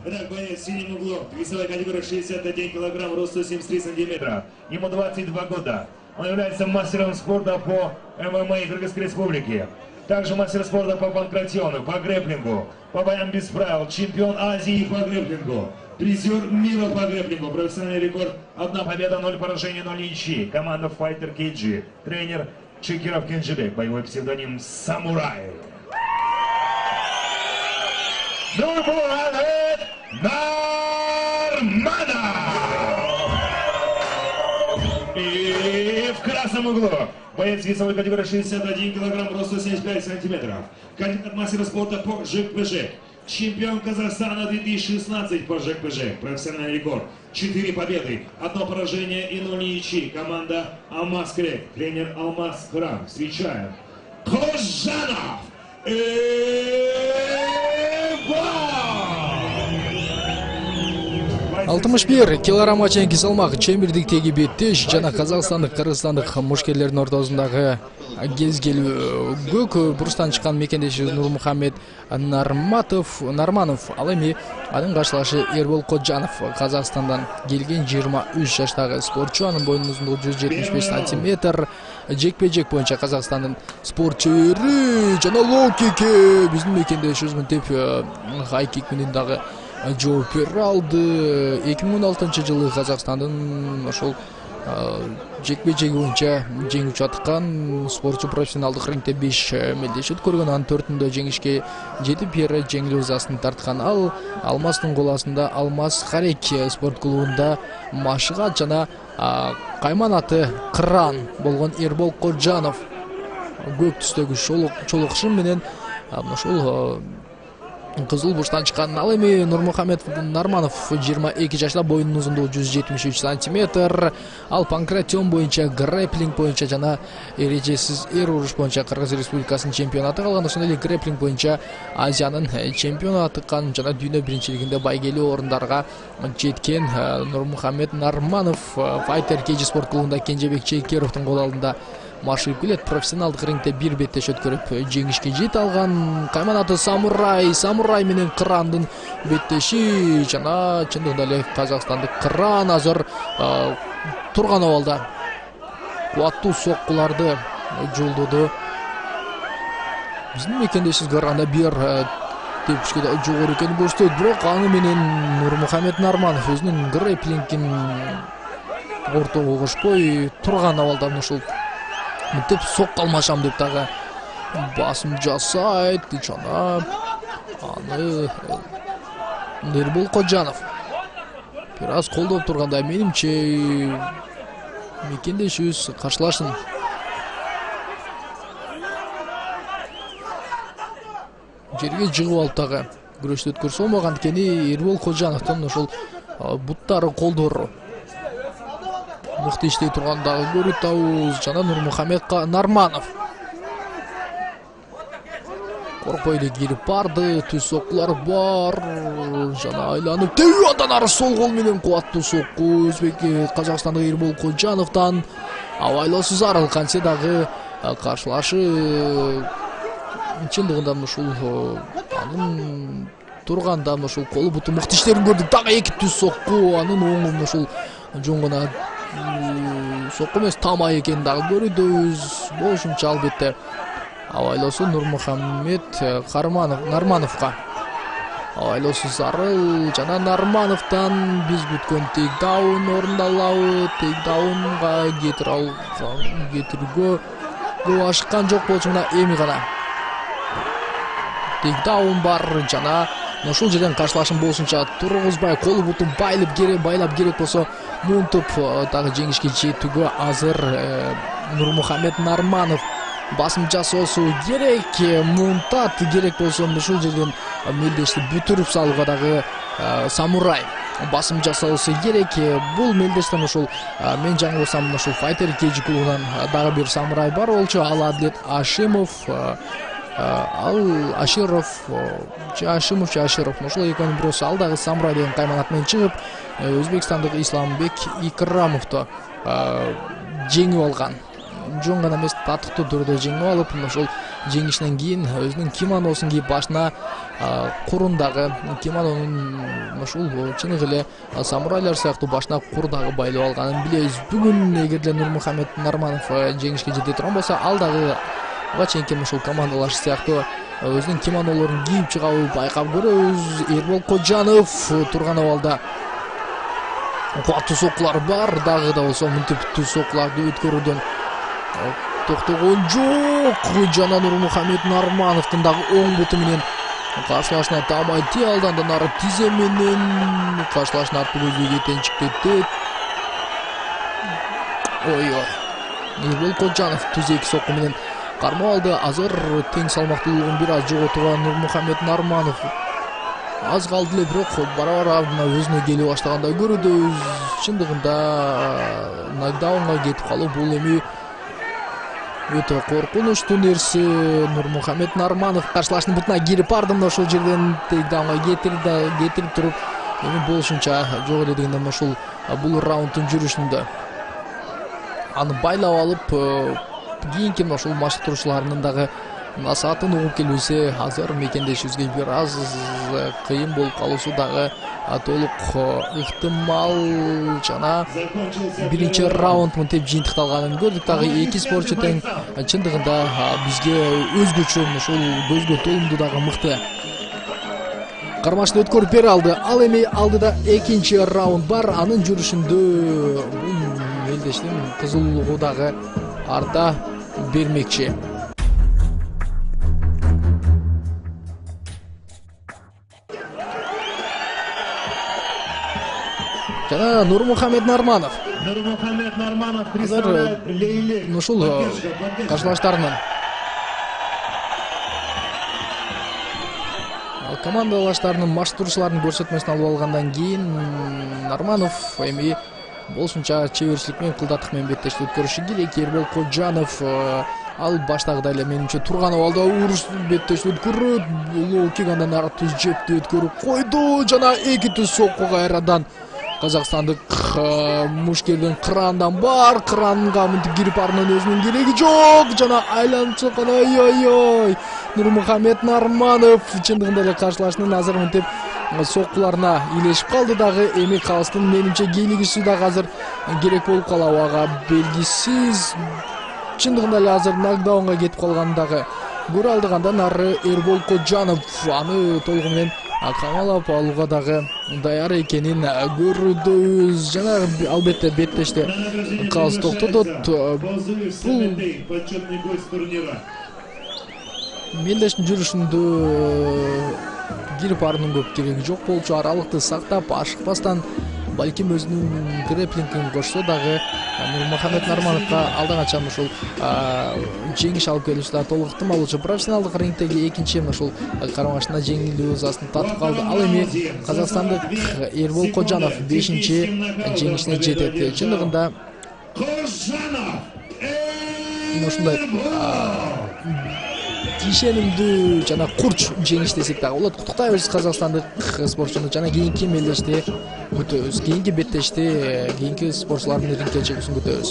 Итак, боец в синем углу, весовая категория 61 килограмм, рост 173 сантиметра. Ему 22 года. Он является мастером спорта по ММА Кыргызской Республики. Также мастер спорта по панкратиону, по грэпплингу, по боям без правил, чемпион Азии по грэпплингу, призер мира по грэпплингу, профессиональный рекорд 1 победа, 0 поражений, 0 ничьи. Команда Fighter KG, тренер Чекиров Кенжебек, боевой псевдоним Самурай. Нурмухамед Нарманов! И в красном углу боец весовой категории 61 килограмм, рост 175 сантиметров. Кандидат мастера спорта по ЖКПЖ. Чемпион Казахстана 2016 по ЖКПЖ. Профессиональный рекорд. 4 победы, 1 поражение и 0 ничьи. Команда Алмаз Крек. Тренер Алмаз Храм. Встречаем Кожанов. 61 килограммга чейинки салмак чембирдиктеги беттеш жана казакстандык кыргызстандык мушкерлердин ортосундагы кезгелүү көк бурчтан чыккан мекендешибиз Нурмухамед Нарманов ал эми анын каршылашы Эрбол Кожанов Казакстандан келген 23 жаштагы спортчу. Анын боюнун узундугу 175 сантиметр. Жекпе-жек боюнча Казакстандын спортчулары жана лоу-кикке биздин мекендешибиз мынтип хай-кик менен дагы жооп бере алды. 2016-жылы Казакстандын ошол жекпе-жеги боюнча жеңүүчү атыккан спортчу профессионалдык рингде 5 мелдеш өткөргөн. Анын 4-үндө жеңишке жетип бери жеңил ызасын тарткан. Ал Алмаздын кол астында Алмаз Харек спорт клубунда машыгат жана кайманаты кыран болгон Эрбол Кожанов көк түстөгү чолок шым менен ошол кызыл бурчтан чыккан. Ал эми Нурмухамед Нарманов 22 жашта, боюнун узундугу 173 сантиметр. Ал панкратион боюнча, грэпплинг боюнча жана эрежесиз эр уруш боюнча Кыргыз Республикасынын чемпионаты калган. Ошондой эле грэпплинг боюнча Азиянын чемпиону атыккан жана дүйнө биринчилигинде байгелүү орундарга жеткен Нурмухамед Нарманов Fighter KG спорт клубунда Кенжебек Чекировдун кол алдында машыгып келет. Профессионалдык рингде бир беттеш өткөрүп жеңишке жете алган. Кайманаты Самурай менен Кырандын беттеши жана чындыгында эле казакстандык Кыран азыр турган абалда кубаттуу соккуларды жолдоду. Биздин мекендешибиз караганда бир тепкичке да жогору экенин көрсөтөт, бирок аны менен Нурмухамед Нарманов өзүнүн грэпплингин ортого кошпой турган абалда ушул мынтип сокко алмашам деп дагы басым жасайт жана аны Эрбол Кожанов бир аз колдоп турганда менимче мекендешибиз каршылашын. Жерге жыгып алып дагы күрөштү өткөрсө болмаган экени Эрбол Кожановдун ошол буттары колдору мыкты иштей турган дагы көрүп атабыз. Жана Нурмухамед Нарманов коркпой эле кирип барды, түз соккулар бар жана айланып тебип андан ары сол кол менен кубаттуу сокку өзбек казакстандык Эрбол Кожановдон абайлоосу зарыл. Кантсе дагы каршылашы чындыгында ушул анын турганда ушул колу буту мыкты иштерин көрдүк. Дагы эки түз сокку, анын оңун ушул жөн гана сокку эмес тама экенин дагы көрүдөбүз. Болушунча албетте абайлоосу Нурмухамед Нармановго абайлоосу зарыл жана Нармановдон биз күткөн тейкдаун орундалабы. Тейкдаунга кетирүүгө ашыккан жок болчу, мына эми гана тейкдаун бар жана ушул жерден каршылашым болушунча тургузбай колу бутун байлап керек болсо мунтуп дагы жеңишке жетүүгө азыр Нурмухамед Нарманов басым жасоосу керек. Мунтат керек болсо ушул жерден мелдешти бүтүрүп салууга дагы Самурай басым жасоосу керек. Бул мелдештен ушул мен жаңылсам ушул Fighter KG клубунан дагы бир Самурай бар болчу. Ал Адлет Ашимов. Ал Аширов ошол экөөнүн бирөөсү. Ал дагы Самурай деген кайманат менен чыгып өзбекстандык Исламбек Икрамовду жеңип алган. жөн гана эмес татыктуу түрдө жеңип алып, ошол жеңишинен кийин өзүнүн кимоносун кийип, башына курун дагы кимононун ушул чыныгы эле самурайлар сыяктуу башына кур дагы байлап алганын билебиз. Бүгүн эгерде Нурмухамед Нарманов жеңишке жете турган болсо, ал дагы буга чейинки ушул командалаш сыяктуу өзүнүн кимонолорун кийип чыгабы байкап көрөбүз. Эрбол Кожанов турган абалда кубаттуу соккулар бар, дагы да болсо мынтип соккуларды өткөрүүдөн токтогон жок. Жана Нурмухамед Нармановдун дагы оң буту менен каршылашына таамай тие алды, андан ары тизе менен каршылашын артпы көзгө кетенчиктетет. Эрбол Кожанов түз эки сокку менен кармап алды. Азыр тең салмактуулугун бир аз жоготуган Нурмухамед Нарманов аз калды эле, бирок бара-бара өзүнө келе баштагандай көрүнөбүз. Чындыгында нокдаунга кетип калуу бул эми өтө коркунучтуу нерсе. Нурмухамед Нарманов каршылаштын бутуна кирип ардынан ошол жерден тейкдаунга кетирип туруп, эми болушунча жок эле дегенде ушул бул раунддун жүрүшүндө аны байлап алып, кийинки ушул машыктыруучуларынын дагы насаатын угуп келбесе, азыр мекендешибизге бир аз кыйын болуп калуусу дагы толук ыктымал. Жана биринчи раунд мынтип жыйынтыкталганын көрдүк. Дагы эки спортчу тең, чындыгында бизге өзгөчө ушул көзгө толумдуу дагы мыкты кармашты өткөрүп бере алды. Ал эми алдыда экинчи раунд бар. Анын жүрүшүндө бул мелдештин кызуулугу дагы арта бермекчи. Жана Нурмухамед Нарманов азыр ушул каршылаштарынын командалаштарынын машыктыруучуларынын көрсөтмөсүн алып алгандан кийин Нарманов эми болушунча чеберчилик менен, кылдаттык менен беттешти өткөрүшү керек. Эрбол Кожанов ал баштагыдай эле менимче турган абалда уруш беттешти өткөрөт. Лоу-кик, андан ары түз жепти өткөрүп койду. Жана эки түз сокку кайрадан казакстандык мушкердин кырандан бар. Кыранга мынтип кирип ардынан өзүнүн кереги жок. Жана айланып чыккан. Ой. Нурмухамед Нарманов чындыгында эле каршылашынын азыр мынтип соккуларына илешип калды дагы. Эми калыстын менимче кийлигиши дагы азыр керек болуп калабы, ага белгисиз. Чындыгында эле азыр нокдаунга кетип калганын дагы көрө алдык. Андан ары Эрбол Кожанов аны толугу менен камалап алууга дагы даяр экенин көрүбүз. Жана албетте беттеште калыс токтотот. Бул мелдештин жүрүшүндө кирип ардын көп кереги жок болчу. Аралыкты сактап, ашыкпастан балким өзүнүн грэплингин кошсо дагы Нурмухамед Нармановго алдан качан ушул жеңиш алып келүүсү да толук ыктымал болчу. Профессионалдык рингдеги экинчи ушул кармашына жеңилүү ызасын татып калды. Ал эми казакстандык Эрбол Кожанов 5-чи жеңишине жетет. Чындыгында ушундай ишенимдүү жана курч жеңиш десек дагы болот. Куттуктайбыз казакстандык спортчуну. Жана кийинки мелдешти күтөбүз. Кийинки беттешти кийинки спортчулардын рингке чыгуусун күтөбүз.